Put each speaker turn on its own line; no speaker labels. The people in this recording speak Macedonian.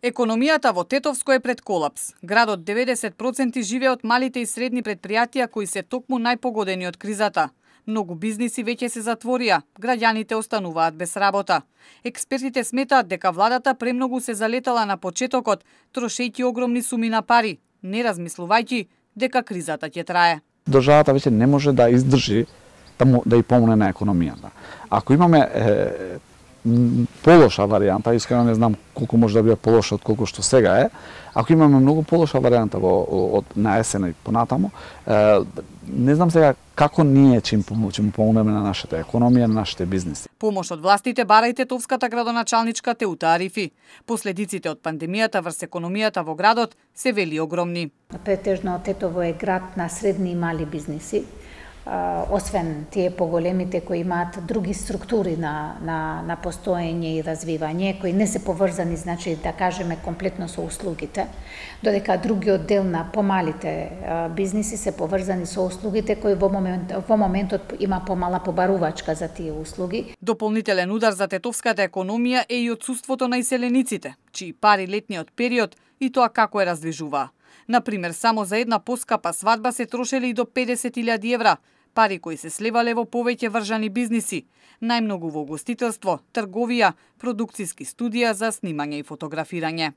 Економијата во Тетовско е пред колапс. Градот 90% живее од малите и средни предпријатија кои се токму најпогодени од кризата. Многу бизниси веќе се затворија, граѓаните остануваат без работа. Експертите сметаат дека владата премногу се залетала на почетокот, трошејќи огромни суми на пари, не размислувајќи дека кризата ќе трае.
Државата веќе не може да издржи да и помогне на економијата. Ако имаме полоша варијанта, искрено не знам колку може да биде полоша од колку што сега е. Ако имаме многу полоша варијанта на есена и понатаму, не знам сега како ние ќе им помогнеме на нашата економија, на нашите бизнеси.
Помош од властите бара и тетовската градоначалничка Теута Арифи. Последиците од пандемијата врз економијата во градот се вели огромни.
Претежно Тетово е град на средни и мали бизниси. Освен тие поголемите кои имаат други структури на постоење и развивање, кои не се поврзани, значи да кажеме комплетно со услугите, додека другиот дел на помалите бизниси се поврзани со услугите кои во моментот има помала побарувачка за тие услуги.
Дополнителен удар за тетовската економија е и отсуството на иселениците, чии пари летниот период и тоа како е раздвижуваа. Например, само за една поскапа свадба се трошеле и до 50.000 евра, пари кои се сливале во повеќе вржани бизниси, најмногу во угостителство, трговија, продукциски студија за снимање и фотографирање.